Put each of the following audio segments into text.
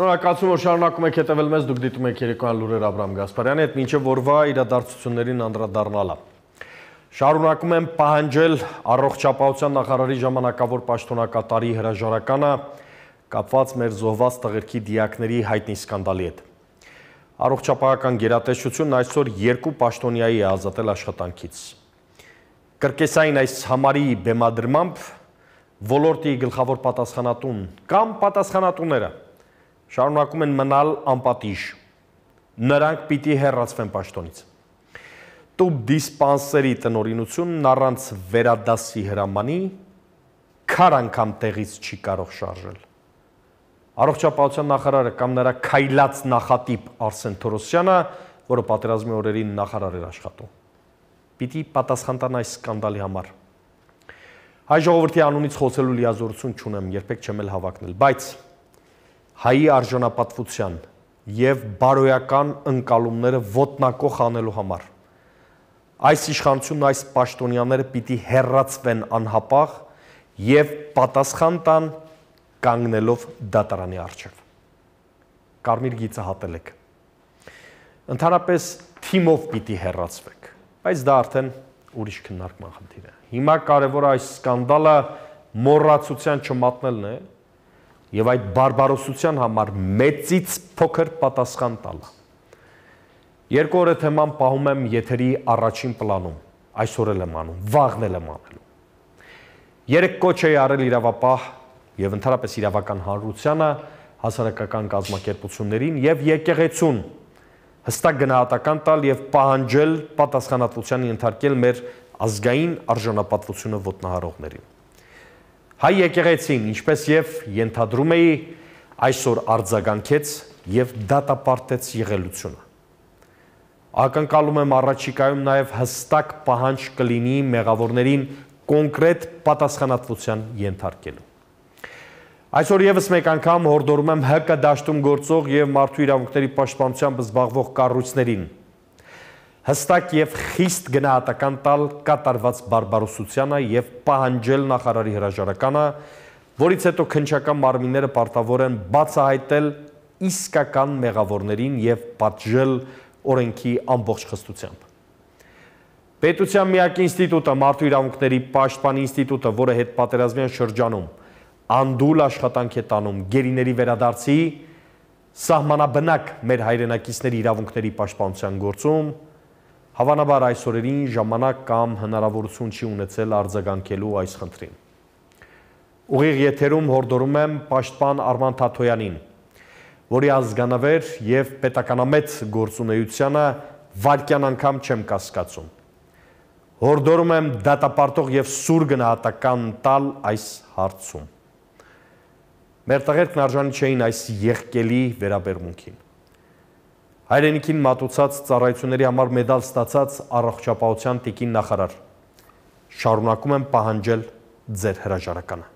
Շնորհակալություն, որ շարունակում եք հետևել մեզ, դուք դիտում եք երեկոյան լուրեր Աբրահամ Գասպարյանի հետ, մինչև օրվա իրադարձություններին անդրադառնալը։ Շարունակում եմ պահանջել առողջապահության նախարարի ժամանակավոր պաշտոնակատարի հրաժարականը կապված մեր զոհված տղերքի դիակների հայտնի սկանդալի հետ։ Առողջապահական գերատեսչությունն այսօր 2 պաշտոնյայի է ազատել աշխատանքից։ Կրկեսային այս համարի բեմադրմամբ ոլորտի գլխավոր պատասխանատուն կամ պատասխանատուները շարունակում են մնալ անպատիժ, նրանք պիտի հեռացվեն պաշտոնից։ Տուբ դիսպանսերի տնօրինությունն առանց վերադասի հրամանի քար անգամ տեղից չի կարող շարժել։ Առողջապահության նախարարը կամ նրա քայլած նախատիպ Արսեն Թորոսյանը, որը պատերազմի օրերին նախարար էր աշխատում, պիտի պատասխան տան այս սկանդալի համար։ Հայ ժողովրդի անունից խոսելու լիազորություն չունեմ, երբեք չեմ էլ հավակնել, բայց հայի արժանապատվության և բարոյական ընկալումները ոտնակոխ անելու համար այս իշխանությունն, այս պաշտոնյաները պիտի հեռացվեն անհապաղ և պատասխան տան կանգնելով դատարանի առջև։ Կարմիր գիծը հատել եք։ Ընդհանրապես թիմով պիտի հեռացվեք, բայց դա արդեն ուրիշ քննարկման խնդիր է։ Հիմա կարևոր այս սկանդալը մոռացության չմատնելն է և այդ բարբարոսության համար մեծից փոքր պատասխան տալը։ 2 օր է թեման պահում եմ եթերի առաջին պլանում, այսօր էլ եմ անում, վաղն էլ եմ անելու։ 3 կոչ էի արել իրավապահ և ընդհանրապես իրավական հանրությանը, հասարակական կազմակերպություններին և եկեղեցուն հստակ գնահատական տալ և պահանջել պատասխանատվության ենթարկել մեր ազգային արժանապատվությունը ոտնահարողներին։ Հայ եկեղեցին, ինչպես և ենթադրում էի, այսօր արձագանքեց և դատապարտեց եղելությունը։ Ակնկալում եմ առաջիկայում նաև հստակ պահանջ կլինի մեղավորներին կոնկրետ պատասխանատվության ենթարկելու։ Այսօր ևս մեկ անգամ հորդորում եմ ՀԿ դաշտում գործող և մարդու իրավունքների պաշտպանությամբ զբաղվող կառույցներին հստակ և խիստ գնահատական տալ կատարված բարբարոսությանը և պահանջել նախարարի հրաժարականը, որից հետո քննչական մարմինները պարտավոր են բացահայտել իսկական մեղավորներին և պատժել օրենքի ամբողջ խստությամբ։ Պետության միակ ինստիտուտը, մարդու իրավունքների պաշտպան ինստիտուտը, որը հետպատերազմյան շրջանում անդուլ աշխատանք է տանում գերիների վերադարձի, սահմանաբնակ մեր հայրենակիցների իրավունքների պաշտպանության գործում, հավանաբար այս օրերին ժամանակ կամ հնարավորություն չի ունեցել արձագանքելու այս խնդրին։ Ուղիղ եթերում հորդորում եմ պաշտպան Արման Թաթոյանին, որի ազգանավեր և պետականամետ գործունեությանը վայրկյան անգամ չեմ կասկածում։ Հորդորում եմ դատապարտող և սուր գնահատական տալ այս հարցում։ Մեր տղերքն արժանի չէին այս եղկելի վերաբերմունքին։ Հայրենիքին մատուցած ծառայությունների համար մեդալ ստացած առողջապահության տիկին նախարար, շարունակում եմ պահանջել ձեր հրաժարականը։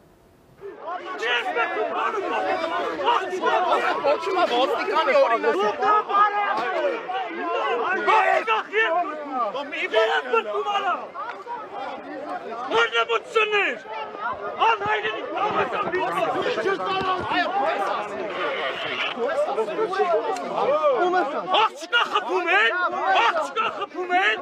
Աղջկա խփում են։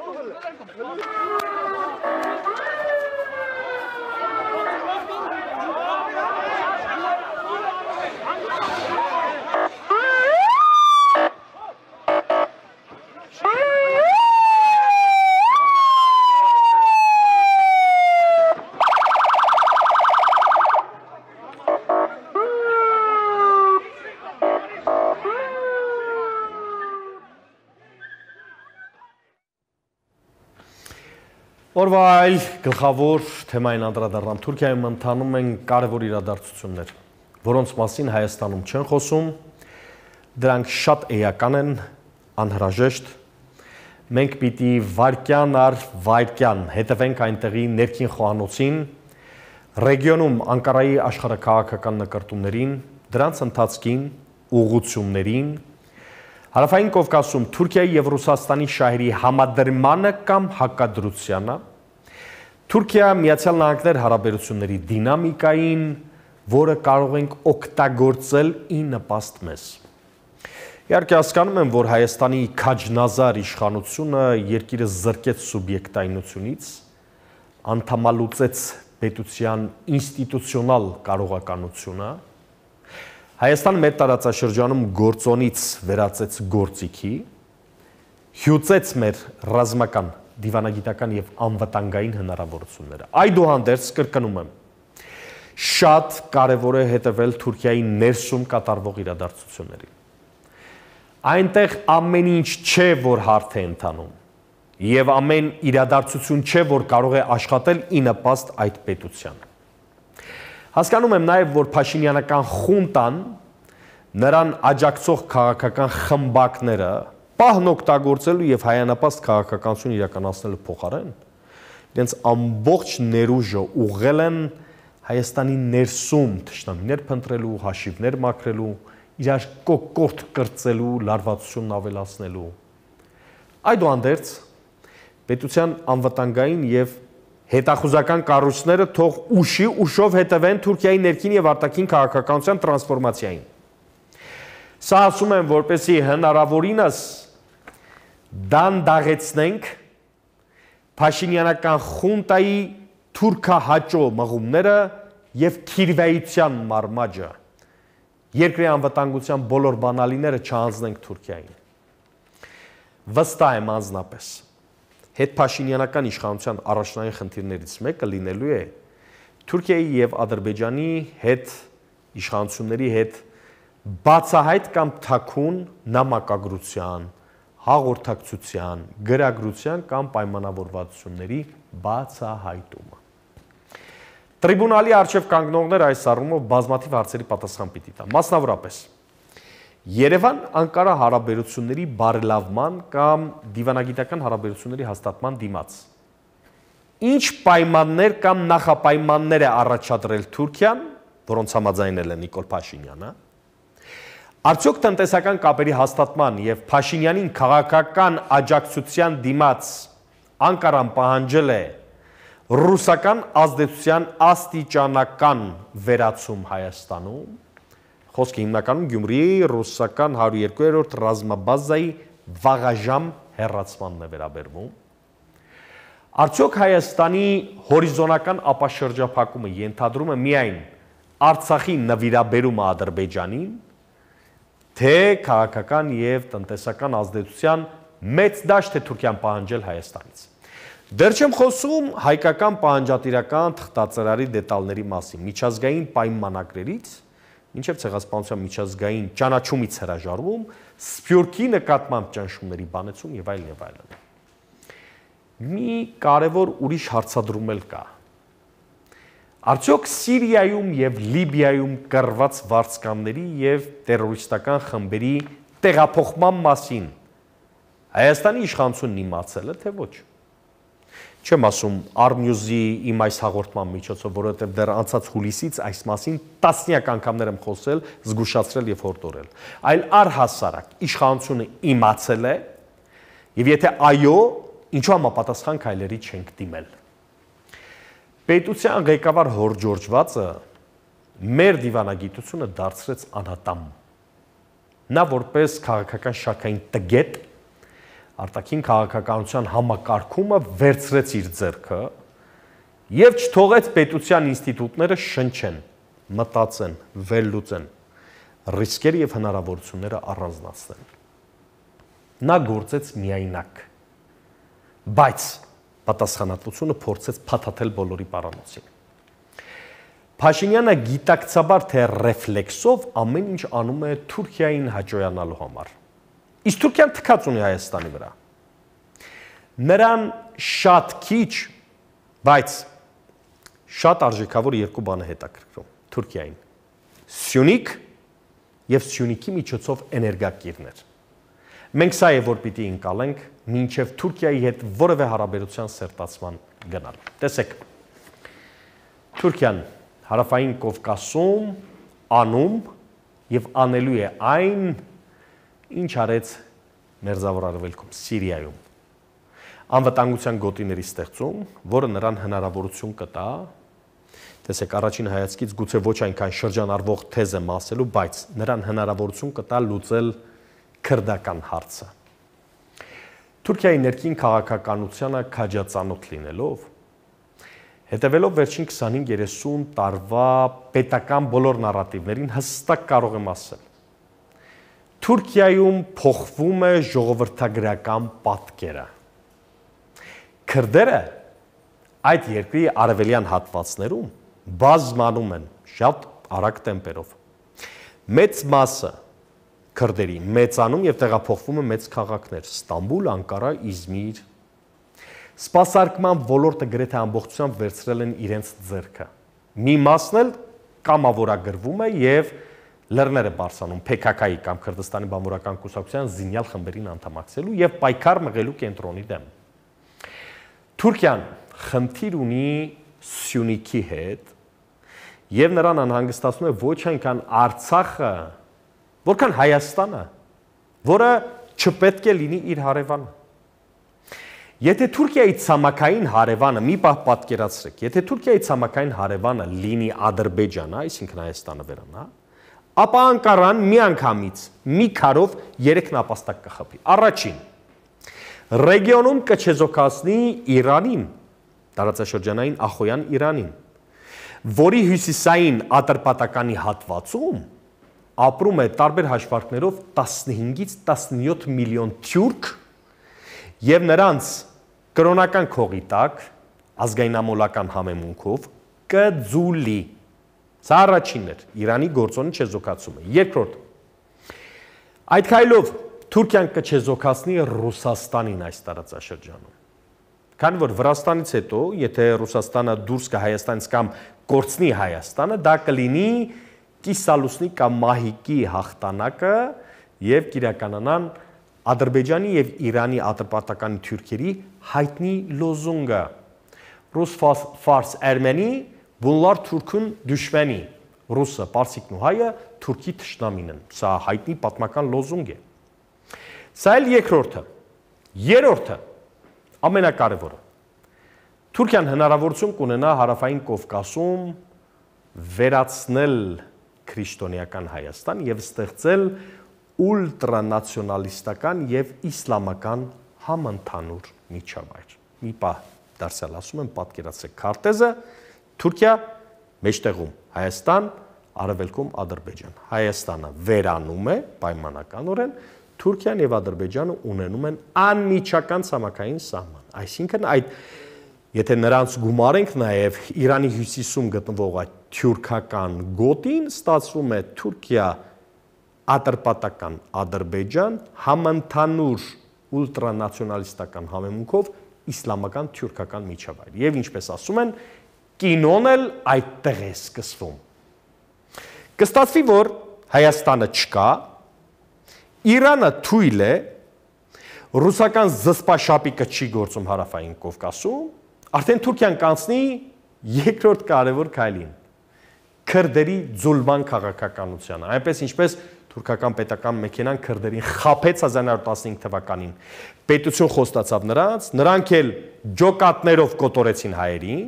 Օրվա այլ գլխավոր թեմային անդրադառնամ Թուրքիայում ընթանում են կարևոր իրադարձություններ, որոնց մասին Հայաստանում չեն խոսում, դրանք շատ էական են, անհրաժեշտ, մենք պիտի վայրկյան առ վայրկյան հետևենք այնտեղի ներքին խոհանոցին, ռեգիոնում Անկարայի աշխարհաքաղաքական նկրտումներին, դրանց ընթացքին, ուղղություններին, Հարավային Կովկասում Թուրքիայի և Ռուսաստանի շահերի համադրմանը կամ հակադրությանը, Թուրքիա-Միացյալ Նահանգներ հարաբերությունների դինամիկային, որը կարող ենք օգտագործել ի նպաստ մեզ։ Իհարկե հասկանում եմ, որ Հայաստանի քաջնազար իշխանությունը երկիրը զրկեց սուբյեկտայնությունից, անդամալուծեց պետության ինստիտուցիոնալ կարողականությունը, Հայաստանը մեր տարածաշրջանում գործոնից վերածեց գործիքի, հյուծեց մեր ռազմական, դիվանագիտական և անվտանգային հնարավորությունները։ Այդուհանդերձ կրկնում եմ, շատ կարևոր է հետևել Թուրքիայի ներսում կատարվող իրադարձություններին։ Այնտեղ ամեն ինչ չէ, որ հարթ է ընթանում, և ամեն իրադարձություն չէ, որ կարող է աշխատել ի նպաստ այդ պետության։ Հասկանում եմ նաև, որ Փաշինյանական խունտան, նրան աջակցող քաղաքական խմբակները պահն օգտագործելու և հայանապաստ քաղաքականություն իրականացնելու փոխարեն, իրենց ամբողջ ներուժը ուղղել են Հայաստանի ներսում թշնամիներ փնտրելու, հաշիվներ մաքրելու, իրար կոկորդ կրծելու, լարվածությունն ավելացնելու։ Այդուհանդերձ, պետության անվտանգային և հետախուզական կառույցները թող ուշով հետևեն Թուրքիայի ներքին և արտաքին քաղաքականության տրանսֆորմացիային։ Սա ասում եմ, որպեսզի հնարավորինս դանդաղեցնենք Փաշինյանական խունտայի թուրքահաճո մղումները և քիրվայության մարմաճը, երկրի անվտանգության բոլոր բանալիները չհանձնենք Թուրքիային։ Վստահ եմ անձնապես, հետփաշինյանական իշխանության առաջնային խնդիրներից մեկը լինելու է Թուրքիայի և Ադրբեջանի հետ իշխանությունների հետ բացահայտ կամ թաքուն նամակագրության, հաղորդակցության, գրագրության կամ պայմանավորվածությունների բացահայտումը։ Տրիբունալի առջև կանգնողները այս առումով բազմաթիվ հարցերի պատասխան պիտի տան, մասնավորապես Երևան-Անկարա հարաբերությունների բարելավման կամ դիվանագիտական հարաբերությունների հաստատման դիմաց։ Ինչ պայմաններ կամ նախապայմաններ է առաջադրել Թուրքիան, որոնց համաձայնել է Նիկոլ Փաշինյանը, արդյոք տնտեսական կապերի հաստատման և Փաշինյանին քաղաքական աջակցության դիմաց Անկարան պահանջել է ռուսական ազդեցության աստիճանական վերացում Հայաստանում, խոսքը հիմնականում Գյումրիի ռուսական 102-րդ ռազմաբազայի վաղաժամ հեռացմանն է վերաբերվում։ Արդյոք Հայաստանի հորիզոնական ապաշրջափակումը ենթադրում է միայն Արցախի նվիրաբերումը Ադրբեջանին, թե քաղաքական և տնտեսական ազդեցության մեծ դաշտ է Թուրքիան պահանջել Հայաստանից։ Դեռ չեմ խոսում հայկական պահանջատիրական թղթածրարի դետալների մասին, միջազգային պայմանագրերից, մինչև ցեղասպանության միջազգային ճանաչումից հրաժարվում, Սփյուռքի նկատմամբ ճնշումների բանեցում եւ այլն եւ այլն։ Մի կարևոր ուրիշ հարցադրում էլ կա։ Արդյոք Սիրիայում եւ Լիբիայում կռված վարձկանների եւ տերորիստական խմբերի տեղափոխման մասին Հայաստանի իշխանությունն իմացել է, թե ոչ։ Չեմ ասում Armnews-ի իմ այս հաղորդման միջոցով, որովհետև դեռ անցած հուլիսից այս մասին տասնյակ անգամներ եմ խոսել, զգուշացրել եւ հորդորել, այլ առհասարակ իշխանությունը իմացել է, եւ եթե այո, ինչու համապատասխան քայլերի չենք դիմել։ Պետության ղեկավար հորժորջվածը մեր դիվանագիտությունը դարձրեց անհատամ։ Նա որպես քաղաքական շարքային տգետ արտաքին քաղաքականության համակարգումը վերցրեց իր ձեռքը եւ չթողեց պետության ինստիտուտները շնչեն, մտածեն, վերլուծեն, ռիսկերը եւ հնարավորությունները առանձնացնեն։ Նա գործեց միայնակ, բայց պատասխանատվությունը փորձեց փաթաթել բոլորի պարանոցին։ Փաշինյանը գիտակցաբար թե ռեֆլեքսով ամեն ինչ անում է Թուրքիային հաջողանալու համար։ Իսկ Թուրքիան թքած ունի Հայաստանի վրա։ Նրան շատ քիչ, բայց շատ արժեքավոր երկու բան է հետաքրքրում Թուրքիային։ Սյունիք եւ Սյունիքի միջոցով էներգակիրներ։ Մենք սա է որ պիտի ընկալենք մինչև Թուրքիայի հետ որևէ հարաբերության սերտացման գնալ։ Տեսեք, Թուրքիան Հարավային Կովկասում անում եւ անելու է այն, ինչ արեց Մերձավոր Արևելքում, Սիրիայում։ Անվտանգության գոտիների ստեղծում, որը նրան հնարավորություն կտա Տեսեք, առաջին հայացքից գուցե ոչ այնքան շրջանառվող թեզ եմ ասելու, բայց նրան հնարավորություն կտա լուծել քրդական հարցը։ Թուրքիայի ներքին քաղաքականությանը քաջածանոթ լինելով, հետևելով վերջին 25-30 տարվա պետական բոլոր նարատիվներին հստակ կարող եմ ասել։ Թուրքիայում փոխվում է ժողովրդագրական պատկերը։ Քրդերը այդ երկրի արևելյան հատվածներում բազմանում են շատ արագ տեմպերով։ Մեծ մասը քրդերի մեծանում եւ տեղափոխվում է մեծ քաղաքներ՝ Ստամբուլ, Անկարա, Իզմիր։ Սպասարկման ոլորտը գրեթե ամբողջությամբ վերցրել են իրենց ձեռքը։ Մի մասն էլ կամավորագրվում է եւ լեռներ է բարձրանում PKK-ի կամ Քրդստանի բանվորական կուսակցության զինյալ խմբերին անդամակցելու եւ պայքար մղելու կենտրոնի դեմ։ Թուրքիան խնդիր ունի Սյունիքի հետ եւ նրան անհանգստացնում է ոչ այնքան Արցախը, որքան Հայաստանը, որը չպետք է լինի իր հարևանը։ Եթե Թուրքիայի ցամաքային հարևանը, մի պահ պատկերացրեք, եթե Թուրքիայի ցամաքային հարևանը լինի Ադրբեջանը, այսինքն Հայաստանը վերանա, ապա Անկարան միանգամից մի քարով 3 նապաստակ կխփի։ Առաջին, ռեգիոնում կչեզոքացնի Իրանին, տարածաշրջանային ախոյան Իրանին, որի հյուսիսային Ատրպատականի հատվածում ապրում է տարբեր հաշվարկներով 15-ից 17 միլիոն թուրք եւ նրանց կրոնական քողի տակ ազգայնամոլական համեմունքով կձուլի։ Սա առաջինն էր Իրանի գործոնի չեզոքացումը։ Երկրորդ, այդ քայլով Թուրքիան կչեզոքացնի Ռուսաստանին այս տարածաշրջանում։ Քանի որ Վրաստանից հետո, եթե Ռուսաստանը դուրս գա Հայաստանից կամ կորցնի Հայաստանը, դա կլինի կիսալուսնի կամ մահիկի հաղթանակը եւ կիրականանան Ադրբեջանի եւ Իրանի ատրպատականի թուրքերի հայտնի լոզունգը Ռուս ֆարս Էրմենի բունլար թուրքուն դուշմենի ռուսը պարսիկն ու հայը թուրքի թշնամին են։ Սա հայտնի պատմական լոզունգ է։ Սա էլ երկրորդը։ Երրորդը ամենակարևորը։ Թուրքիան հնարավորություն կունենա հարավային Կովկասում վերացնել քրիստոնեական Հայաստան եւ ստեղծել ուլտրանացիոնալիստական եւ իսլամական համընդհանուր միջավայր։ Մի պահ դարձյալ ասում եմ, պատկերացրեք քարտեզը, Թուրքիա մեջտեղում Հայաստան, արևելքում Ադրբեջան։ Հայաստանը վերանում է պայմանականորեն, Թուրքիան եւ Ադրբեջանը ունենում են անմիջական ցամաքային սահման։ Այսինքն այդ եթե նրանց գումարենք նաեւ Իրանի հյուսիսում գտնվող այդ թուրքական գոտին, ստացվում է Թուրքիա Ատրպատական Ադրբեջան համընդհանուր ուլտրանացիոնալիստական համեմունքով իսլամական թուրքական միջավայր։ Եվ ինչպես ասում են, կինոն էլ այդտեղ է սկսվում։ Կստացվի, որ Հայաստանը չկա, Իրանը թույլ է, ռուսական զսպաշապիկը չի գործում հարավային Կովկասում, արդեն Թուրքիան կանցնի երկրորդ կարևոր քայլին՝ քրդերի ձուլման քաղաքականությանը, այնպես ինչպես թուրքական պետական մեքենան քրդերին խաբեց 1915 թվականին, պետություն խոստացավ նրանց, նրանք էլ ջոկատներով կոտորեցին հայերին,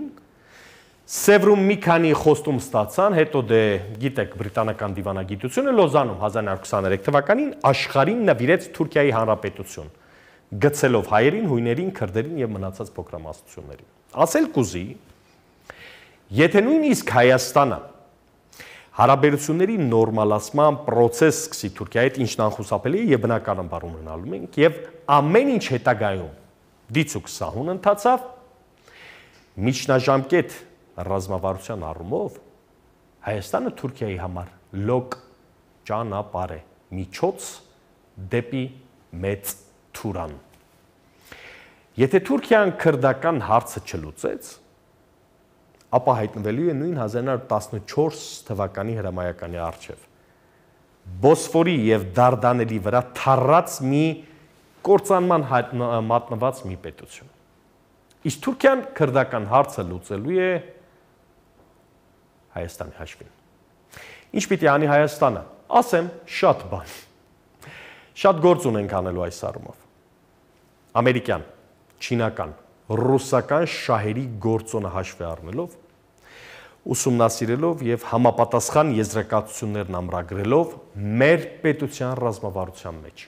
Սևրում մի քանի խոստում ստացան, հետո դե գիտեք բրիտանական դիվանագիտությունը Լոզանում 1923 թվականին աշխարհին նվիրեց Թուրքիայի հանրապետություն, գցելով հայերին, հույներին, քրդերին եւ մնացած փոքրամասնություններին։ Ասել կուզի, եթե նույնիսկ Հայաստանը հարաբերությունների նորմալացման process սկսի Թուրքիայի հետ, ինչն անխուսափելի է եւ բնականաբար ունենալու ենք, եւ ամեն ինչ հետագայում դիցուք սահուն ընթացավ, միջնաժամկետ ռազմավարության առումով Հայաստանը Թուրքիայի համար լոկ ճանապարհ է, միջոց դեպի մեծ Թուրան։ Եթե Թուրքիան քրդական հարցը չլուծեց, ապա հայտնվելու է նույն 1914 թվականի հրամայականի առջև։ Բոսֆորի եւ Դարդանելի վրա թառած մի կործանման մատնված մի պետություն։ Իսկ Թուրքիան քրդական հարցը լուծելու է Հայաստանի հաշվին։ Ինչ պիտի անի Հայաստանը։ Ասեմ, շատ բան։ Շատ գործ ունենք անելու այս առումով։ Ամերիկյան, չինական, ռուսական շահերի գործոնը հաշվի առնելով, ուսումնասիրելով եւ համապատասխան եզրակացություններն ամրագրելով մեր պետության ռազմավարության մեջ։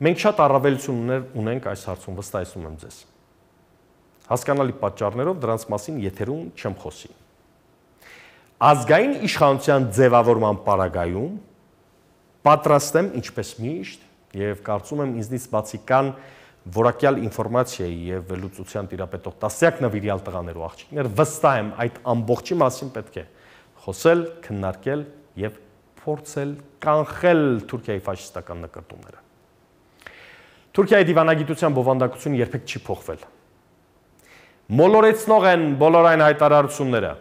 Մենք շատ առավելություններ ունենք այս հարցում, վստահեցնում եմ ձեզ։ Հասկանալի պատճառներով դրանց մասին եթերում չեմ խոսի։ Ազգային իշխանության ձևավորման պարագայում պատրաստ եմ ինչպես միշտ եւ կարծում եմ ինձնից բացի կան որակյալ ինֆորմացիայի եւ վերլուծության տիրապետող տասնյակ նվիրյալ տղաներ ու աղջիկներ, վստահ եմ այդ ամբողջի մասին պետք է խոսել, քննարկել եւ փորձել կանխել Թուրքիայի ֆաշիստական նկրտումները։ Թուրքիայի դիվանագիտության բովանդակությունը երբեք չի փոխվել։ Մոլորեցնող են բոլոր այն հայտարարությունները,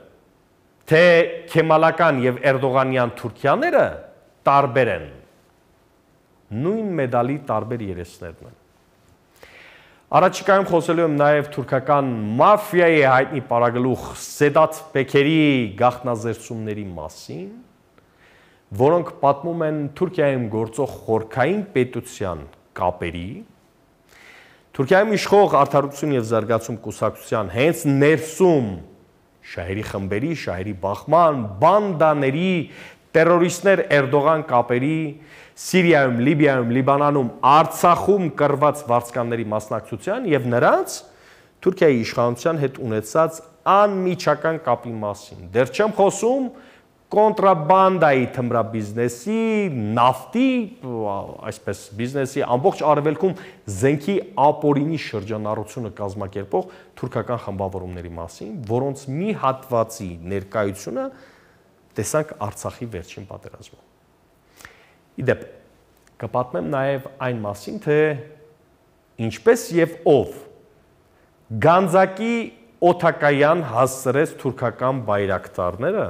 թե քեմալական եւ էրդողանյան Թուրքիաները տարբեր են։ Նույն մեդալի տարբեր երեսներն են։ Առաջիկայում խոսելու եմ նաև թուրքական մաֆիայի հայտնի պարագլուխ Սեդաթ Պեքերի գաղտնազերծումների մասին, որոնք պատմում են Թուրքիայում գործող խորքային պետության կապերի, Թուրքիայում իշխող Արդարություն եւ զարգացում կուսակցության հենց ներսում շահերի խմբերի, շահերի բախման, բանդաների, տերորիստներ Էրդողան կապերի, Սիրիայում, Լիբիայում, Լիբանանում, Արցախում կռված վարձկանների մասնակցության եւ նրանց Թուրքիայի իշխանության հետ ունեցած անմիջական կապի մասին։ Դեռ չեմ խոսում կոնտրաբանդայի թմրաբիզնեսի, նավթի, այսպես բիզնեսի ամբողջ արևելքում զենքի ապօրինի շրջանառությունը կազմակերպող թուրքական խմբավորումների մասին, որոնց մի հատվածի ներկայությունը տեսանք Արցախի վերջին պատերազմում։ Իդեպ, կպատմեմ նաև այն մասին, թե ինչպես եւ ով Գանձակի օդակայան հասցրեց թուրքական բայրակտարները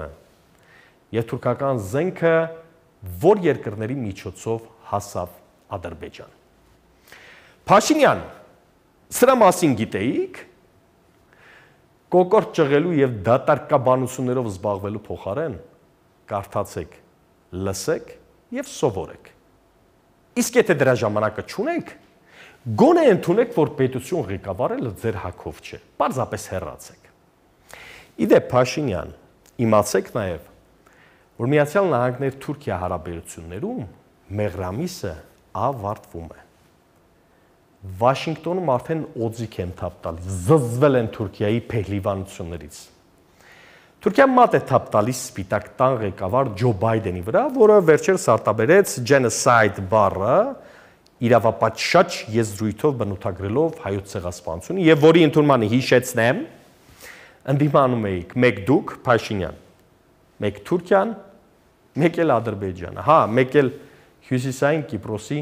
եւ թուրքական զենքը որ երկրների միջոցով հասավ Ադրբեջան։ Փաշինյան, սրա մասին գիտեիք, կոկորդ ճղելու եւ դատարկաբանություններով զբաղվելու փոխարեն կարդացեք, լսեք եւ սովորեք։ Իսկ եթե դրա ժամանակը չունեք, գոնե ընդունեք, որ պետություն ղեկավարելը ձեր հագով չէ, պարզապես հեռացեք։ Իդեպ Փաշինյան, իմացեք նաեւ, որ Միացյալ Նահանգներ-Թուրքիա հարաբերություններում մեղրամիսը ավարտվում է։ Վաշինգտոնում արդեն օձիք են թափ տալիս, զզվել են Թուրքիայի փեհլիվանություններից։ Թուրքիան մատ է թափ տալիս Սպիտակ տան ղեկավար Ջո Բայդենի վրա, որը վերջերս արտաբերեց genocide բառը իրավապատշաճ եզրույթով բնութագրելով հայոց ցեղասպանությունը եւ որի ընդունմանը հիշեցնեմ, ընդդիմանում էիք մեկ դուք Փաշինյան, մեկ Թուրքիան, մեկ էլ Ադրբեջանը, հա, մեկ էլ Հյուսիսային Կիպրոսի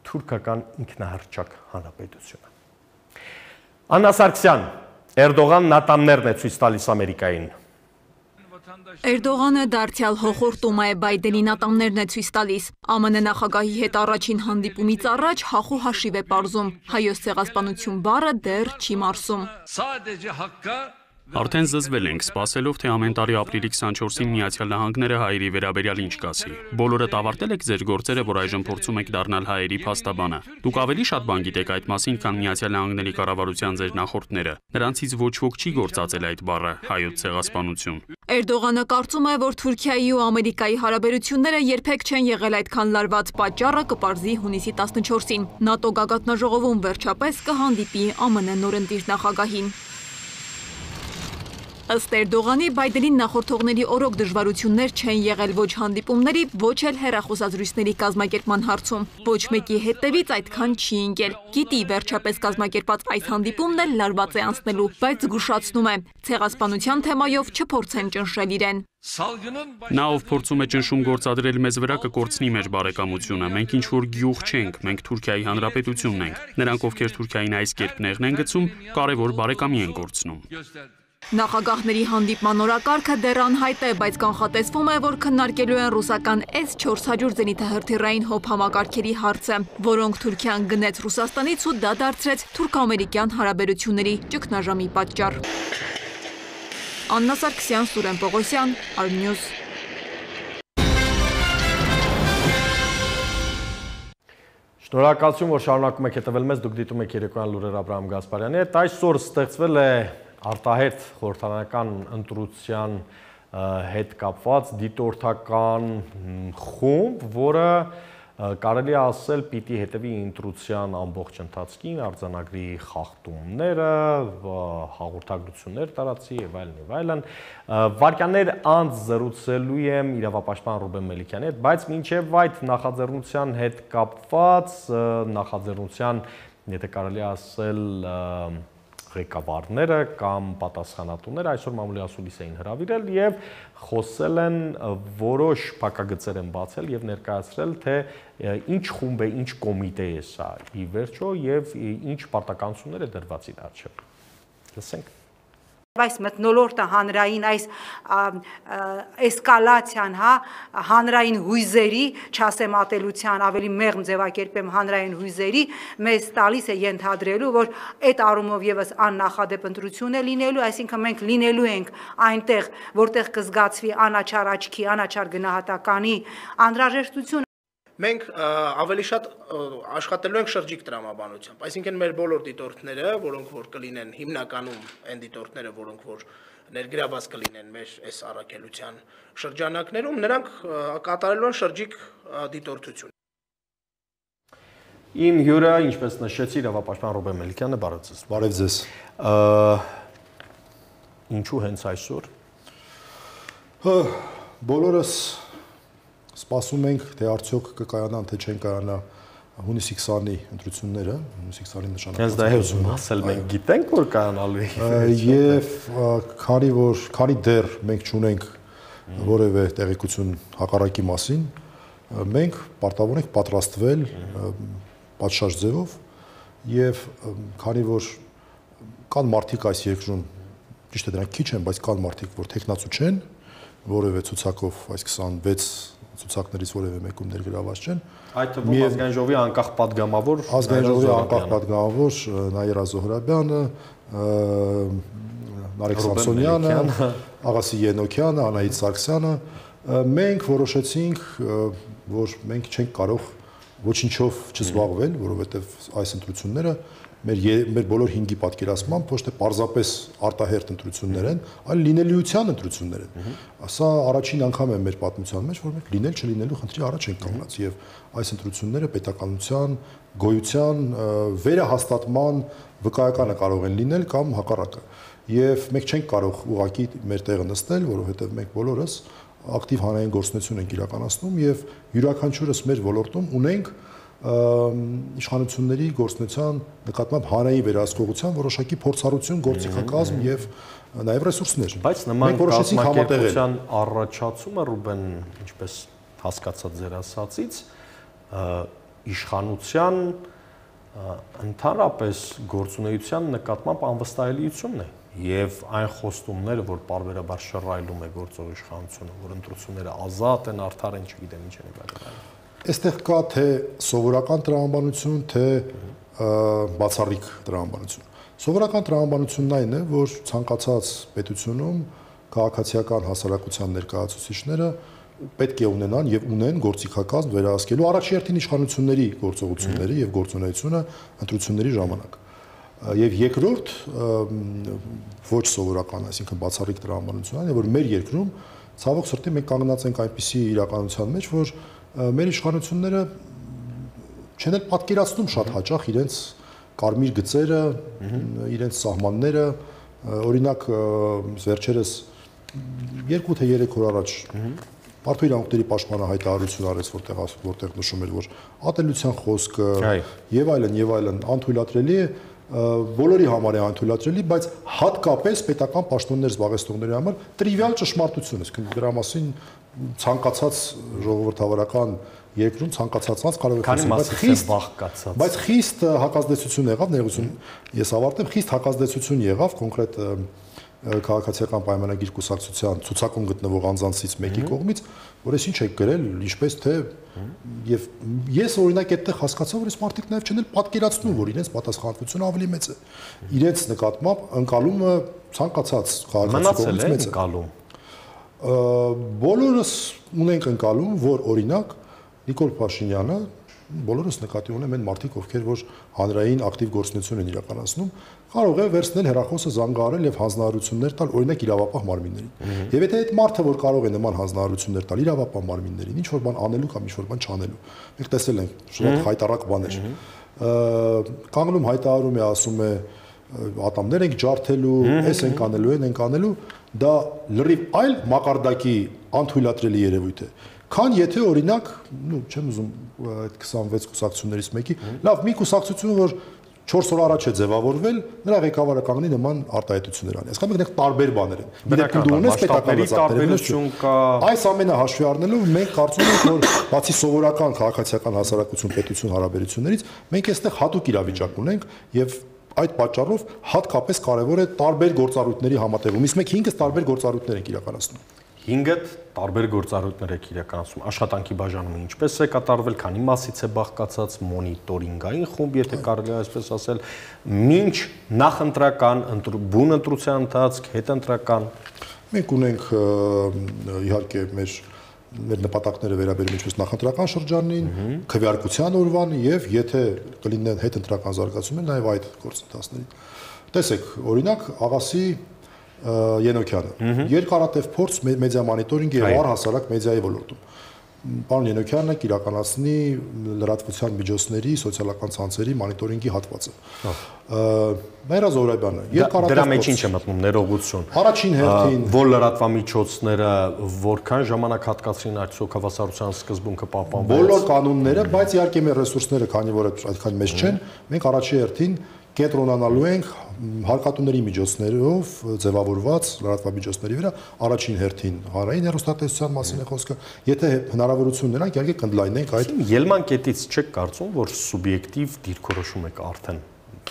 թուրքական ինքնահռչակ հանրապետությունը։ Աննա Սարգսյան, Էրդողան նատամներն է ցույց տալիս Ամերիկային։ Էրդողանը դարձյալ հոխորտում է Բայդենին ատամներն է ցույց տալիս։ ԱՄՆ նախագահի հետ առաջին հանդիպումից առաջ հախու հաշիվ է պարզում։ Հայոց ցեղասպանություն բառը դեռ չի մարսում։ Արդեն զզվել ենք, սպասելով, թե ամեն տարի ապրիլի 24-ին Միացյալ Նահանգները հայերի վերաբերյալ ինչ կասի։ Բոլորդ ավարտել եք ձեր գործերը, որ այժմ փորձում եք դառնալ հայերի փաստաբանը։ Դուք ավելի շատ բան գիտեք այդ մասին, քան Միացյալ Նահանգների կառավարության ձեր նախորդները։ Նրանցից ոչ ոք չի գործածել այդ բառը՝ հայոց ցեղասպանություն։ Էրդողանը կարծում է, որ Թուրքիայի ու Ամերիկայի հարաբերությունները երբեք չեն եղել այդքան լարված, պատճառը կպարզի հունիսի 14-ին։ ՆԱՏՕ գագաթնաժողովում վերջապես կհանդիպի ԱՄՆ նորընտիր նախագահին։ Ըստ Էրդողանի, Բայդենին նախորդողների օրոք դժվարություններ չեն եղել ոչ հանդիպումների, ոչ էլ հեռախոսազրույցների կազմակերպման հարցում։ Ոչ մեկի հետևից այդքան չի ընկել։ Գիտի, վերջապես կազմակերպած այս հանդիպումն էլ լարված է անցնելու, բայց զգուշացնում է, ցեղասպանության թեմայով չփորձեն ճնշել իրեն։ Նա ով փորձում է ճնշում գործադրել մեզ վրա կկորցնի մեր բարեկամությունը։ Մենք ինչ որ գյուղ չենք, մենք Թուրքիայի հանրապետությունն ենք։ Նրանք, ովքեր Թուրքիային այս կերպ նեղն են գցում, կարևոր բարեկամի են կորցնում։ Նախագահների հանդիպման օրակարգը դեռ անհայտ է, բայց կանխատեսվում է, որ քննարկելու են ռուսական S-400 զենիթահրթիռային հոբ համակարգերի հարցը, որոնք Թուրքիան գնեց Ռուսաստանից ու դա դարձրեց թուրք-ամերիկյան հարաբերությունների ճգնաժամի պատճառ։ Աննա Սարգսյան, Սուրեն Պողոսյան, Arnews։ Շնորհակալություն, որ շարունակում եք հետևել մեզ, դուք դիտում եք երեկոյան լուրեր Աբրահամ Գասպարյանի հետ։ Այսօր ստեղծվել է արտահերթ խորհրդարանական ընտրության հետ կապված դիտորդական խումբ, որը կարելի է ասել պիտի հետևի ընտրության ամբողջ ընթացքին, արձանագրի խախտումները, հաղորդագրություններ տարածի եւ այլն։ Վարքյաններ անց զրուցելու եմ իրավապաշտպան Ռուբեն Մելիքյանի հետ, բայց մինչեւ այդ նախաձեռնության հետ կապված նախաձեռնության, եթե կարելի է ասել, ղեկավարները կամ պատասխանատուները այսօր մամուլի ասուլիս էին հրավիրել եւ խոսել են որոշ փակագծեր են բացել եւ ներկայացրել թե ինչ խումբ է, ինչ կոմիտե է սա ի վերջո եւ ինչ պարտականություններ է դրված իր առջեւ։ Լսենք։ Այս մթնոլորտը հանրային այս էսկալացիան, հանրային հույզերի, չասեմ ատելության, ավելի մեղմ ձևակերպեմ հանրային հույզերի, մեզ տալիս է ենթադրելու, որ այդ առումով եւս աննախադեպ ընտրություն է լինելու, այսինքն մենք լինելու ենք այնտեղ, որտեղ կզգացվի անաչառ աչքի, անաչառ գնահատականի անհրաժեշտություն։ Մենք ավելի շատ աշխատելու ենք շրջիկ տրամաբանությամբ, այսինքն մեր բոլոր դիտորդները, որոնք որ կլինեն հիմնականում այն դիտորդները, որոնք որ ներգրաված կլինեն մեր այս առաքելության շրջանակներում, նրանք կատարելու են շրջիկ դիտորդություն։ Իմ հյուրը, ինչպես նշեցի, իրավապաշտպան Ռուբեն Մելիքյանը, բարև ձեզ։ Բարև ձեզ։ Ինչու հենց այսօր։ Բոլորս սպասում ենք, թե արդյոք կկայանան, թե չեն կայանա հունիսի 20-ի ընտրությունները, հունիսի 20-ի նշանակված։ Հենց դա է ուզում ասել, մենք գիտենք, որ կայանալու է։ Եվ քանի դեռ մենք չունենք որևէ տեղեկություն հակառակի մասին, մենք պարտավոր ենք պատրաստվել պատշաճ ձևով եւ քանի որ կան մարդիկ այս երկրում, ճիշտ է դրանք քիչ են, բայց կան մարդիկ, որ տեխնացու չեն, որևէ ցուցակով այս 26 ցուցակներից որևէ մեկում ներգրաված չեն։ Այդ թվում ազգային ժողովի անկախ падգամավոր Նաիրա Զոհրաբյանը, Նարեկ Սամսոնյանը, Աղասի Ենոքյանը, Անահիտ Սարգսյանը, մենք որոշեցինք, որ մենք չենք կարող ոչինչով չզբաղվել, որովհետև այս ընտրությունները մեր բոլոր 5-ի պատկերացմամբ ոչ թե պարզապես արտահերթ ընտրություններ են, այլ լինելիության ընտրություններ են։ Սա առաջին անգամ է մեր պատմության մեջ, որ մենք լինել-չլինելու խնդրի առաջ ենք կանգնած եւ այս ընտրությունները պետականության, գոյության, վերահաստատման վկայականը կարող են լինել կամ հակառակը։ Եվ մենք չենք կարող ուղղակի մեր տեղը նստել, որովհետեւ մենք բոլորս ակտիվ հանրային գործունեություն ենք իրականացնում եւ յուրաքանչյուրս մեր ոլորտում ունենք իշխանությունների գործունեության նկատմամբ հանրային վերահսկողության որոշակի փորձառություն, գործիքակազմ եւ նաեւ ռեսուրսներ։ Բայց նման կազմակերպության առաջացումը Ռուբեն, ինչպես հասկացած ձեր ասածից, իշխանության ընդհանրապես գործունեության նկատմամբ անվստահելիությունն է եւ այն խոստումները, որ պարբերաբար շռայլում է գործող իշխանությունը, որ ընտրությունները ազատ են, արդար են, չգիտեմ ինչ են այլն։ Այստեղ կա թե սովորական տրամաբանություն, թե բացառիկ տրամաբանություն։ Սովորական տրամաբանությունն այն է, որ ցանկացած պետությունում քաղաքացիական հասարակության ներկայացուցիչները պետք է ունենան եւ ունեն գործիքակազմ վերահսկելու առաջերտին իշխանությունների գործողությունների եւ գործունեությունը ընտրությունների ժամանակ։ Եվ երկրորդ ոչ սովորական, այսինքն բացառիկ տրամաբանությունն է, որ մեր երկրում ցավոք սրտի մենք կանգնած ենք այնպիսի իրականության մեջ, որ մեր իշխանությունները չեն էլ պատկերացնում շատ հաճախ իրենց կարմիր գծերը, իրենց սահմանները, օրինակ վերջերս 2 թե 3 օր առաջ Մարդու իրավունքների պաշտպանը հայտարարություն արեց, որտեղ նշում էր, որ ատելության խոսքը եւ այլն անթույլատրելի է, բոլորի համար է անթույլատրելի, բայց հատկապես պետական պաշտոններ զբաղեցնողների համար տրիվիալ ճշմարտություն է, այսինքն դրա մասին ցանկացած ժողովրդավարական երկրում ցանկացած անձ կարող է խոսել, բայց խիստ հակազդեցություն եղավ, ներողություն, ես ավարտեմ, խիստ հակազդեցություն եղավ կոնկրետ քաղաքացիական պայմանագիր կուսակցության ցուցակում գտնվող անձանցից մեկի կողմից, որ ես ինչ եք գրել, ինչպես թե եւ ես օրինակ այդտեղ հասկացա, որ այս մարդիկ նաեւ չեն էլ պատկերացնում, որ իրենց պատասխանատվությունը ավելի մեծ է։ Իրենց նկատմամբ ընկալումը ցանկացած քաղաքացի կողմից մեծ է։ Բոլորս ունենք ընկալում, որ օրինակ Նիկոլ Փաշինյանը բոլորս նկատի ունեմ այն մարդիկ, ովքեր որ հանրային ակտիվ գործունեություն են իրականացնում, կարող է վերցնել հեռախոսը զանգահարել եւ հանձնարարություններ տալ օրինակ իրավապահ մարմիններին։ Եվ եթե այդ մարդը որ կարող է նման հանձնարարություններ տալ իրավապահ մարմիններին, ինչ որ բան անելու կամ ինչ որ բան չանելու, մենք տեսել ենք շատ հայտարարակ բաներ։ Կանգնում հայտարարում է, ասում է ատամներ ենք ջարդելու, էս ենք անելու, ենք անելու, դա լրիվ այլ մակարդակի անթույլատրելի երևույթ է։ Քան եթե օրինակ, չեմ ուզում այդ 26 կուսակցություններից մեկի, լավ, մի կուսակցություն, որ 4 օր առաջ է ձևավորվել, նրա ղեկավարը կանգնի նման արտահայտություններ անի։ Այսինքն մենք տարբեր բաներ են։ Դու ունես պետական տարբերություն կա։ Այս ամենը հաշվի առնելով մենք կարծում ենք, որ բացի սովորական քաղաքացիական հասարակություն պետություն հարաբերություններից, մենք այստեղ հատուկ իրավիճակ ունենք եւ այդ պատճառով հատկապես կարևոր է տարբեր գործառույթների համատեղում։ Իսկ մենք 5-ը տարբեր գործառույթներ ենք իրականացնում։ 5-ը տարբեր գործառույթներ եք իրականացնում։ Աշխատանքի բաժանումը ինչպես է կատարվել, քանի մասից է բաղկացած, մոնիտորինգային խումբ, եթե կարելի է այսպես ասել, մինչ նախընտրական, բուն ընտրության ընթացք, հետընտրական։ Մենք ունենք իհարկե մեր նպատակները վերաբերում ինչպես նախընտրական շրջանին, քվեարկության օրվան եւ եթե կլինեն հետընտրական զարգացումներ, նաեւ այդ գործընթացներին։ Տեսեք, օրինակ Աղասի Ենոքյանը երկարատև փորձ մեդիա մոնիտորինգի եւ առհասարակ մեդիայի ոլորտում։ Պարոն Ենոքյանն է իրականացնի լրատվության միջոցների սոցիալական ցանցերի մոնիտորինգի հատվածը։ Մայրա Զոհրաբյանը երկարատև դրա մեջ ինչ է մտնում ներողություն։ Առաջին հերթին որ լրատվամիջոցները որքան ժամանակ հատկացրին այդ հավասարության սկզբունքը պահպանվեց։ Բոլոր կանոնները, բայց իհարկե մեր ռեսուրսները, քանի որ այդքան մեծ չեն, մենք առաջի հերթին կենտրոնանալու ենք հարկատուների միջոցներով ձևավորված լրատվամիջոցների վրա առաջին հերթին հանրային հեռուստատեսության մասին է խոսքը, եթե հնարավորություն նրանք իհարկե կընդլայնենք այդ ելման կետից չեք կարծում, որ սուբյեկտիվ դիրքորոշում եք արդեն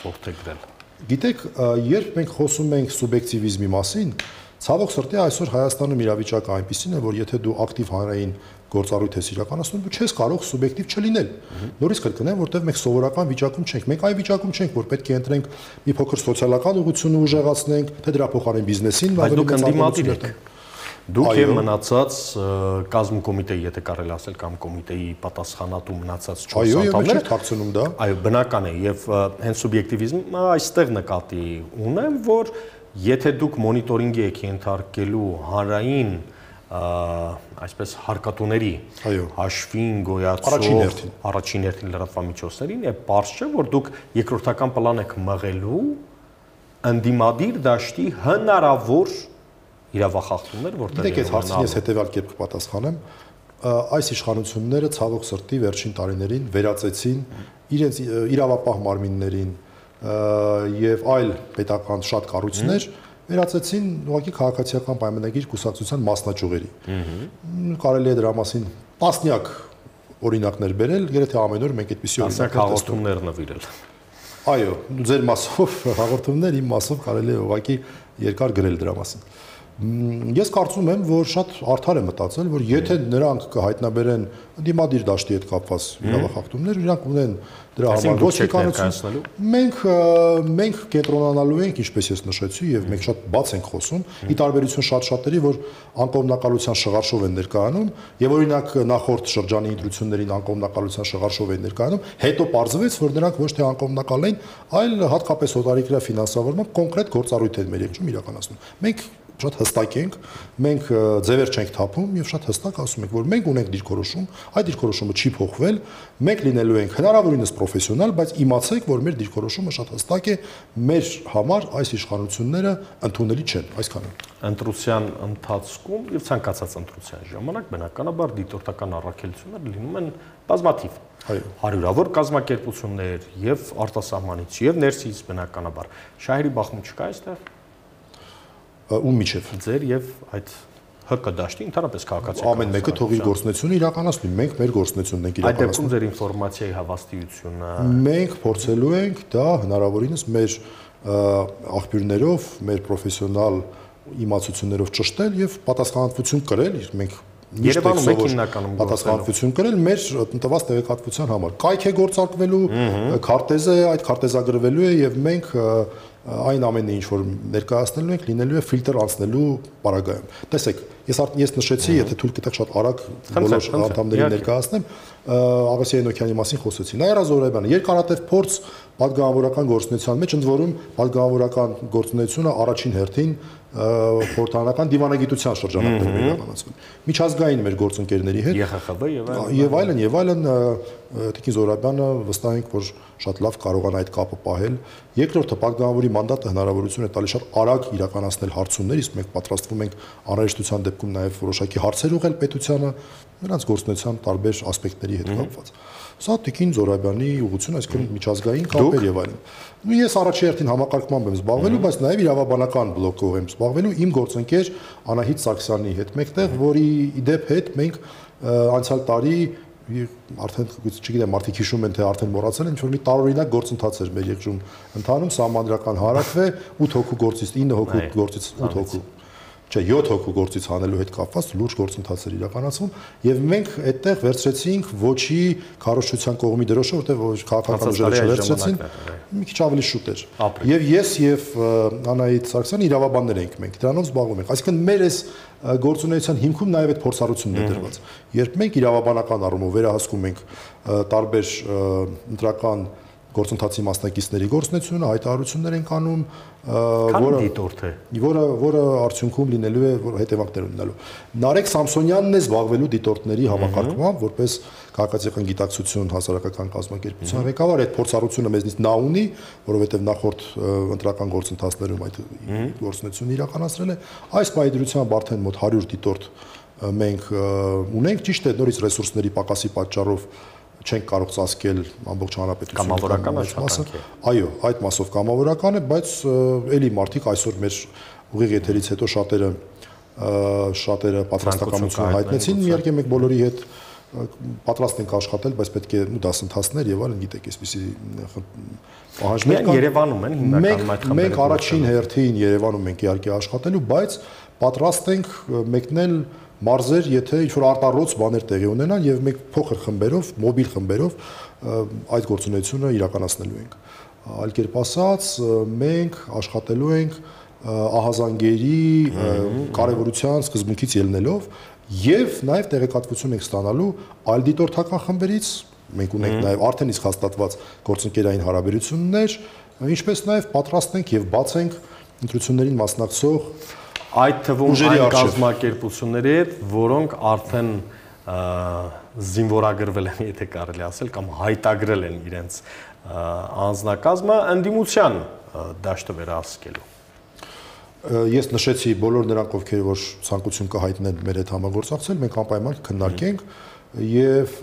որդեգրել։ Գիտեք, երբ մենք խոսում ենք սուբյեկտիվիզմի մասին, ցավոք սրտի այսօր Հայաստանում իրավիճակը այնպիսին է, որ եթե դու ակտիվ հանրային գործառույթ ես իրականացնում, դու չես կարող սուբյեկտիվ չլինել։ Նորից կրկնեմ, որտեղ մենք սովորական վիճակում չենք։ Մենք այն վիճակում չենք, որ պետք է ընտրենք մի փոքր սոցիալական ուղղությունը ուժեղացնենք, թե դրա փոխարեն բիզնեսին ավելի մեծ անդամություն եք։ Դուք եւ մնացած կազմկոմիտեի, եթե կարելի ասել, կամ կոմիտեի պատասխանատու մնացած 4 անդամները թաքցնում դա։ Այո, բնական է եւ հենց սուբյեկտիվիզմը այստեղ նկատի ունեմ, որ եթե դուք մոնիտորինգի եք ենթարկելու հանրային այսպես հարկատուների հաշվին գոյացող առաջին հերթին լրատվամիջոցներին է պարզ չէ, որ դուք երկրորդական պլան եք մղելու ընդդիմադիր դաշտի հնարավոր իրավախախտումներ, որտեղ դեք այս հարցին ես հետեւյալ կերպ կպատասխանեմ, այս իշխանությունները ցավոք սրտի վերջին տարիներին վերածեցին իրենց իրավապահ մարմիններին եւ այլ պետական շատ կառույցներ վերածեցին ուղղակի քաղաքացիական պայմանագիր կուսակցության մասնաճյուղերի։ Կարելի է դրա մասին տասնյակ օրինակներ բերել, երբ ամեն օր մենք այդպիսի օրինակներ հաղորդումներ նվիրել։ Այո, ձեր մասով հաղորդումներ, իմ մասով կարելի է ուղղակի երկար գրել դրա մասին։ Ես կարծում եմ, որ շատ արդար է մտածել, որ եթե նրանք կհայտնաբերեն դիմադիր դաշտի հետ կապված իրավախախտումներ, իրանք ունեն դրա համար ոստիկանություն։ Մենք կենտրոնանալու ենք, ինչպես ես նշեցի, եւ մենք շատ բաց ենք խոսում, ի տարբերություն շատ-շատերի, որ անկողմնակալության շղարշով են ներկայանում, եւ օրինակ նախորդ շրջանի ընտրություններին անկողմնակալության շղարշով են ներկայանում, հետո պարզվեց, որ նրանք ոչ թե անկողմնակալ են, այլ հատկապես օտարիկրա ֆինանսավորմամբ կոնկրետ գործառույթ են մեր երկրում իրականացնում։ Մենք շատ հստակ ենք, մենք ձևեր չենք թափում եւ շատ հստակ ասում ենք, որ մենք ունենք դիրքորոշում, այդ դիրքորոշումը չի փոխվել, մենք լինելու ենք հնարավորինս պրոֆեսիոնալ, բայց իմացեք, որ մեր դիրքորոշումը շատ հստակ է, մեր համար այս իշխանությունները ընդունելի չեն, այսքանը։ Ընտրության ընթացքում եւ ցանկացած ընտրության ժամանակ բնականաբար դիտորդական առաքելությունները լինում են բազմաթիվ։ Հարյուրավոր կազմակերպություններ եւ արտասահմանից եւ ներսից բնականաբար։ Շահերի բախում չկա այստեղ։ Ում միջև ձեր եւ այդ ՀԿ դաշտի ընդհանրապես քաղաքացիական ամեն մեկը թողի գործունեությունը իրականացնի, մենք մեր գործունեությունն ենք իրականացնում։ Այդ դեպքում ձեր ինֆորմացիայի հավաստիությունը մենք փորձելու ենք դա հնարավորինս մեր աղբյուրներով, մեր պրոֆեսիոնալ իմացություններով ճշտել եւ պատասխանատվություն կրել, մենք Երևանում եք հիմնականում պատասխանատվություն կրել մեր տնտված տեղեկատվության համար։ Կայք է գործարկվելու, քարտեզ է, այդ քարտեզագրվելու է եւ մենք այն ամենը ինչ որ ներկայացնելու ենք լինելու է ֆիլտր անցնելու պարագայում։ Տեսեք, ես նշեցի, եթե թույլ կտեք շատ արագ բոլոր անդամներին ներկայացնեմ, Աղասիա Էնոքյանի մասին խոսեցի։ Նաիրա Զոհրաբյանը երկարատև փորձ պատգամավորական գործունեության մեջ, ընդ որում պատգամավորական գործունեությունը առաջին հերթին խորհրդարանական դիվանագիտության շրջանակներում է իրականացվում։ Միջազգային մեր գործընկերների հետ եւ այլն Տիկին Զոհրաբյանը վստահ ենք, որ շատ լավ կարողանա այդ կապը պահել։ Երկրորդը պատգամավորի մանդատը հնարավորություն է տալիս շատ արագ իրականացնել հարցումներ, իսկ մենք պատրաստվում ենք անհրաժեշտության դեպքում նաեւ որոշակի հարցեր ուղղել պետությանը նրանց գործունեության տարբեր ասպեկտների հետ կապված։ Սա Տիկին Զոհրաբյանի ուղղությունը, այսինքն միջազգային կապեր եւ այլն։ Ես առաջի հերթին համակարգմամբ եմ զբաղվելու, բայց նաեւ իրավաբանական բլոկով եմ զբաղվելու իմ գործընկեր Անահիտ Սարգսյանի հետ մեկտեղ, որի իդեպ հետ մենք անցյալ տարի արդեն չգիտեմ մարդիկ հիշում են թե արդեն մոռացել են ինչ որ մի տարօրինակ գործընթաց էր մեր երկրում ընթանում սահմանադրական հարաք է 8 հոգու գործից 9 հոգու գործից 8 հոգու չէ 7 հոգու գործից հանելու հետ կապված լուրջ գործընթացեր իրականացվում եւ մենք այդտեղ վերցրեցինք ոչի քարոզչության կողմի դրոշը որտեղ ոչ քաղաքական ուժերը չվերցրեցին մի քիչ ավելի շուտ էր եւ ես եւ Անահիտ Սարգսյանը իրավաբաններ ենք մենք դրանով զբաղվում ենք այսինքն մեր այս գործունեության հիմքում նաև այդ փորձառությունն է դրված երբ մենք իրավաբանական առումով վերահսկում ենք տարբեր ընտրական գործընթացի մասնակիցների գործունեությունը հայտարարություններ են անում որը արդյունքում լինելու է որ հետևանքներ ունենալու Նարեկ Սամսոնյանն է զբաղվելու դիտորդների համակարգմամբ որպես քաղաքացիական գիտակցություն հասարակական կազմակերպության ղեկավար այդ փորձառությունը մեզնից նա ունի որովհետև նախորդ ընտրական գործընթացներում այդ գործունեությունը իրականացրել է այս պայդրությամբ արդեն մոտ 100 դիտորդ մենք ունենք ճիշտ է նորից ռեսուրսների պակասի պատճառով չենք կարող ծածկել ամբողջ հանրապետությունը կամավորական աշխատանք է այո այդ մասով կամավորական է բայց էլի մարդիկ այսօր մեր ուղիղ եթերից հետո շատերը պատրաստակամություն հայտնեցին միարկե մենք բոլորի հետ պատրաստ ենք աշխատել բայց պետք է դասընթացներ եւ այլն գիտեք այսպեսի պահանջներ կան Երևանում են հիմնականում այդ խմբերը մենք առաջին հերթին Երևանում ենք իհարկե աշխատելու բայց պատրաստ ենք մեկնել մարզեր, եթե ինչ-որ արտառոց բաներ տեղի ունենան եւ մենք փոքր խմբերով, մոբիլ խմբերով այդ գործունեությունը իրականացնելու ենք։ Այլ կերպ ասած, մենք աշխատելու ենք ահազանգերի կարևորության սկզբունքից ելնելով եւ նաեւ տեղեկատվություն ենք ստանալու այլ դիտորդական խմբերից, մենք ունենք նաեւ արդեն իսկ հաստատված գործընկերային հարաբերություններ, ինչպես նաեւ պատրաստ ենք եւ բաց ենք ընտրություններին մասնակցող այդ թվում այն կազմակերպությունների հետ, որոնք արդեն զինվորագրվել են, եթե կարելի ասել, կամ հայտագրել են իրենց անձնակազմը ընդդիմության դաշտը վերահսկելու։ Ես նշեցի բոլոր նրանք, ովքեր որ ցանկություն կհայտնեն մեր հետ համագործակցել, մենք անպայման քննարկենք եւ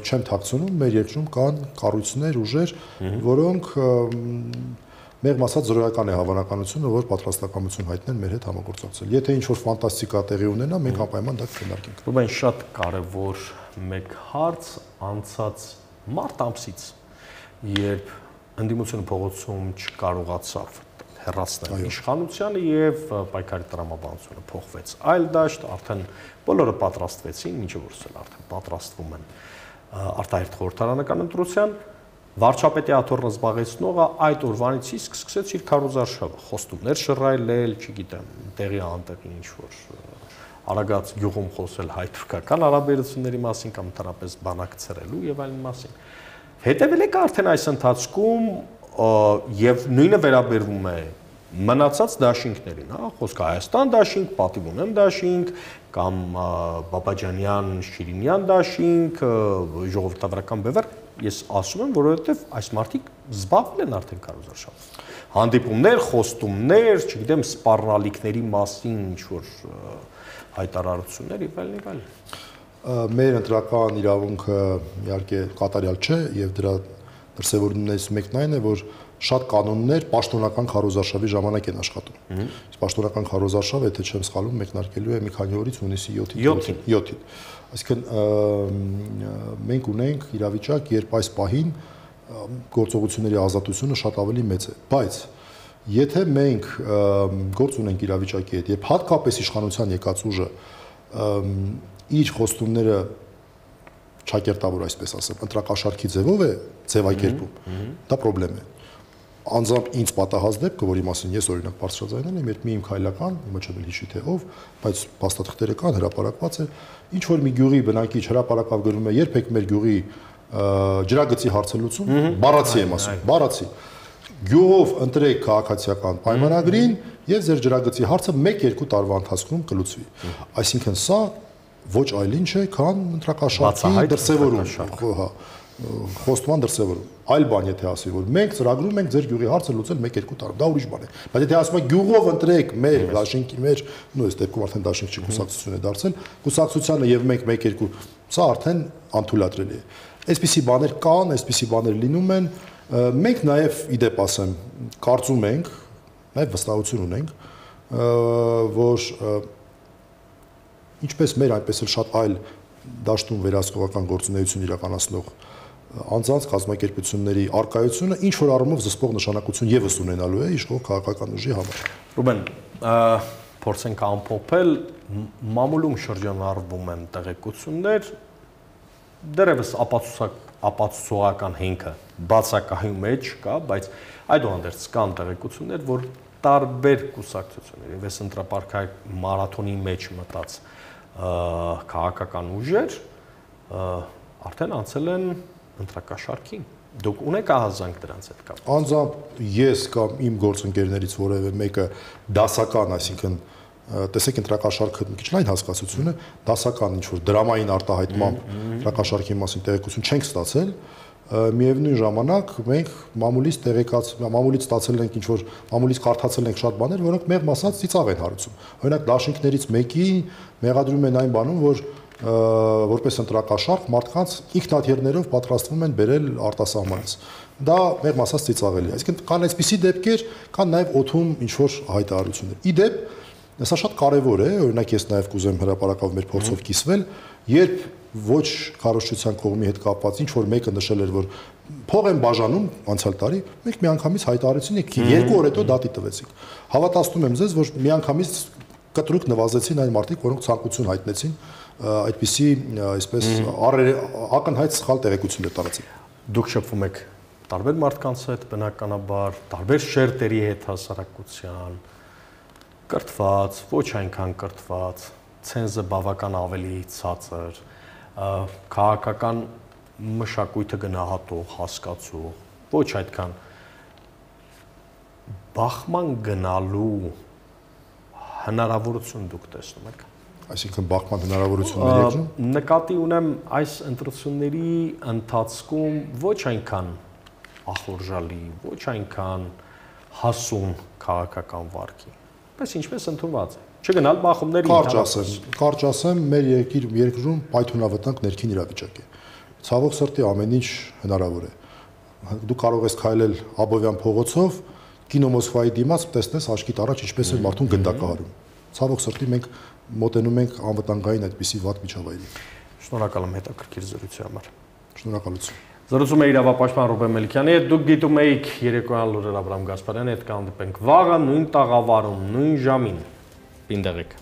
չեմ թաքցնում, մեր երկրում կան կառույցներ, ուժեր, որոնք Մեղմ ասած զրոյական է հավանականությունը, որ պատրաստակամություն հայտնեն մեր հետ համագործակցել։ Եթե ինչ-որ ֆանտաստիկա տեղի ունենա, մենք անպայման դա կքննարկենք։ Ռուբեն, շատ կարևոր մեկ հարց անցած մարտ ամսից, երբ ընդդիմությունը փողոցում չկարողացավ հեռացնել իշխանությանը եւ պայքարի տրամաբանությունը փոխվեց այլ դաշտ, արդեն բոլորը պատրաստվեցին, ինչը որ արդեն պատրաստվում են արտահերթ խորհրդարանական ընտրության Վարչապետի աթոռը զբաղեցնողը այդ օրվանից իսկ սկսեց իր քարոզարշավը, խոստումներ շռայլել, չգիտեմ, տեղի անտեղի ինչ-որ արագած գյուղում խոսել հայ-թուրքական հարաբերությունների մասին կամ ընդհանրապես բանակցրելու եւ այլն մասին։ Հետևել եք արդեն այս ընթացքում եւ նույնը վերաբերվում է մնացած դաշինքներին, հա, խոսքը Հայաստան դաշինք, Պատիվունեմ դաշինք կամ Բաբաջանյան, Շիրինյան դաշինք, ժողովրդավարական բևեռ Ես ասում եմ, որովհետև այս մարդիկ զբաղվել են արդեն քարոզարշավով։ Հանդիպումներ, խոստումներ, չգիտեմ, սպառնալիքների մասին ինչ-որ հայտարարություններ եւ այլն։ Մեր ընտրական իրավունքը իհարկե կատարյալ չէ եւ դրա դրսևորումներից մեկն այն է, որ շատ կանոններ պաշտոնական քարոզարշավի ժամանակ են աշխատում։ Իսկ պաշտոնական քարոզարշավը, եթե չեմ սխալվում, մեկնարկելու է մի քանի օրից հունիսի 7-ին։ Այսինքն մենք ունենք իրավիճակ, երբ այս պահին գործողությունների ազատությունը շատ ավելի մեծ է, բայց եթե մենք գործ ունենք իրավիճակի հետ, երբ հատկապես իշխանության եկած ուժը իր խոստումները չակերտավոր, այսպես ասեմ, ընտրակաշարքի ձևով է ձևակերպում, դա խնդրեմ է։ անձամբ ինձ պատահած դեպքը, որի մասին ես օրինակ բարձրաձայնել եմ, երբ մի իմ քայլական, իմը չեմ հիշի թե ով, բայց փաստաթղթերը կան, հրապարակված է, ինչ որ մի գյուղի բնակիչ հրապարակավ գրում է, երբեք մեր գյուղի ջրագծի հարցը լուծում, բառացի եմ ասում, բառացի։ Գյուղով ընտրեք քաղաքացիական պայմանագրին եւ ձեր ջրագծի հարցը 1-2 տարվա ընթացքում կլուծվի։ Այսինքն սա ոչ այլ ինչ է, քան ընտրակաշարքի դրսևորում, հա, խոստման դրսևորում։ Այլ բան եթե ասի, որ մենք ծրագրում ենք ձեր գյուղի հարցը լուծել 1-2 տարով, դա ուրիշ բան է։ Բայց եթե ասում եք գյուղով ընտրեք մեր դաշինքի մեջ, նույն այս դեպքում արդեն դաշինք չի կուսակցություն է դարձել, կուսակցությանը եւ մենք 1-2, սա արդեն անթույլատրելի է։ Այսպիսի բաներ կան, այսպիսի բաներ լինում են, մենք նաև իդեպ ասեմ, կարծում ենք, նաև վստահություն ունենք, որ ինչպես մեր, այնպես էլ շատ այլ դաշտում վերահսկողական գործունեություն իրականացնող անձանց կազմակերպությունների արկայությունը ինչ որ առումով զսպող նշանակություն եւս ունենալու է իշխող քաղաքական ուժի համար։ Ռուբեն, փորձենք ամփոփել, մամուլում շրջանառվում են տեղեկություններ, դեռևս ապացուցողական հենքը բացակայում մեջ կա, բայց այդուհանդերձ կան տեղեկություններ, որ տարբեր կուսակցություններ, ես ընտրապարքային մարաթոնի մեջ մտած քաղաքական ուժեր արդեն անցել են ընտրակաշարքին։ Դուք ունեք ահազանգ դրանց հետ կապ։ Անձամբ ես կամ իմ գործընկերներից որևէ մեկը դասական, այսինքն տեսեք ընտրակաշարքը մի քիչ լայն հասկացություն է, դասական ինչ որ դրամային արտահայտմամբ ընտրակաշարքի մասին տեղեկություն չենք ստացել, միևնույն ժամանակ մենք մամուլից ստացել ենք ինչ որ մամուլից կարդացել ենք շատ բաներ, որոնք մեղմ ասած ծիծաղ են հարուցում։ Օրինակ դաշինքներից մեկի մեղադրում են այն բանում, որ որպես ընտրակաշարք մարդկանց ինքնաթիռներով պատրաստվում են բերել արտասահմանից։ Դա մեղմ ասած ծիծաղելի է։ Այսինքն կան այսպիսի դեպքեր, կան նաև օդում ինչ որ հայտարարություններ։ Իդեպ սա շատ կարևոր է, օրինակ ես նաև կուզեմ հրապարակավ մեր փորձով կիսվել, երբ ոչ քարոզչության կողմի հետ կապված ինչ որ մեկը նշել էր, որ փող են բաժանում անցյալ տարի, մենք միանգամից հայտարարեցին եք 2 օր հետո դատի տվեցինք։ Հավատացնում եմ ձեզ, որ միանգամից կտրուկ նվազեցին այն մարդիկ, որոնք ցանկություն հայտնեցին այդպիսի, այսպես ակնհայտ սխալ տեղեկություններ տարածել։ Դուք շփվում եք տարբեր մարդկանց հետ, բնականաբար, տարբեր շերտերի հետ հասարակության, կրթված, ոչ այնքան կրթված, ցենզը բավական ավելի ցածր, քաղաքական մշակույթը գնահատող, հասկացող, ոչ այդքան բախման գնալու հնարավորություն դուք տեսնում եք։ Այսինքն բախման հնարավորություններ եղնում։ Նկատի ունեմ այս ընտրությունների ընթացքում ոչ այնքան ախորժալի, ոչ այնքան հասուն քաղաքական վարքի, բայց ինչպես ընդունված է։ Չգնալ բախումների Կարճ ասեմ, մեր երկրում պայթունավտանգ ներքին իրավիճակ է։ Ցավոք սրտի ամեն ինչ հնարավոր է։ Դու կարող ես քայլել Աբովյան փողոցով, Կինո Մոսկվայի դիմաց տեսնես աչքիդ առաջ ինչպես է մարդուն գնդակահարում։ Ցավոք սրտի մենք մոտենում ենք անվտանգային այդպիսի վատ միջավայրի։ Շնորհակալ եմ հետաքրքիր զրույցի համար։ Շնորհակալություն։ Զրուցում է իրավապաշտպան Ռուբեն Մելիքյանի հետ, դուք գիտում եք երեկոյան լուրեր Աբրահամ Գասպարյանի հետ կհանդիպենք վաղը նույն տաղավարում, նույն ժամին։ Պինդեղեք։